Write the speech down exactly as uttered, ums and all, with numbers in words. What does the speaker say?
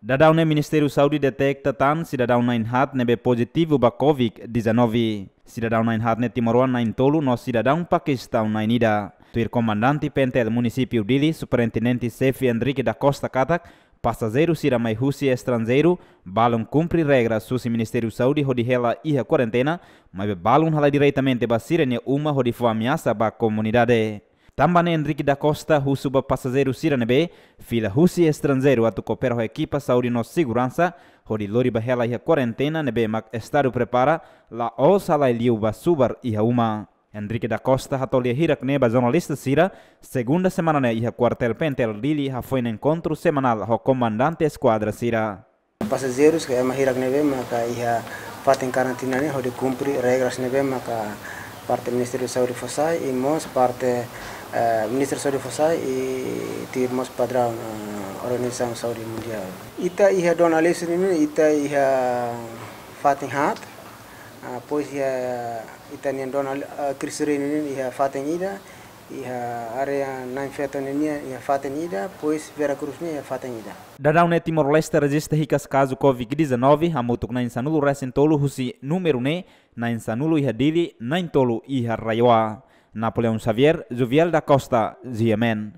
Daudaun ne'e Ministériu Saúde deteta tan sidadaun na'in haat ne'ebé pozitivu ba covid dezanove. Sidadaun na'in haat ne'e timoroan na'in tolu no sidadaun Pakistaun na'in ida. Tuir Komandante P N T L Munisípiu Dili, Superintendente Xefe Henrique da Costa katak, pasajeiru sira mai husi estranjeiru balun kumpre regras husi Ministériu Saúde hodi hela iha kuarentena, maibé balun halai diretamente ba sira-nia uma hodi fó ameasa ba komunidade. Tanba ne'e Henrique da Costa husu ba pasajeiru sira ne'ebé fila husi estranjeiru atu koopera ho ekipa saúde no seguransa hodi lori ba hela iha kuarentena ne'ebé mak estadu prepara, la'ós halai liu ba subar iha uma. Henrique da Costa hato'o lia hirak ne'e ba jornalista sira, segunda semana ne'e iha kuartél P N T L Dili hafoin enkontru semanál ho komandante eskuadra sira. Pasajeirus ka ema hirak ne'ebé maka iha fatin karantina ne'e hodi kumpre regras ne'ebé maka parte Ministériu Saúde fó sai i mós parte, eh, Ministériu Saúde fó sai i tuir mós padraun, eh, Organizasaun Saúde Mundiál. Ita iha Dona Aleixo ne'e ita iha fatin haat, ah, depois iha ita-nia Dona, ah, Cristo Rei ne'e iha fatin ida, iha área Na'in Feto ne'e iha fatin ida, depois Vera Cruz ne'e iha fatin ida. Daudaun ne'e Timor-Leste rejista hikas kazu covid dezanove hamutuk na'in sanulu resin tolu husi númeru ne'e na'in sanulu iha Dili, na'in tolu iha RAEOA. Napoleão Xavier, Jovial da Costa, G M N.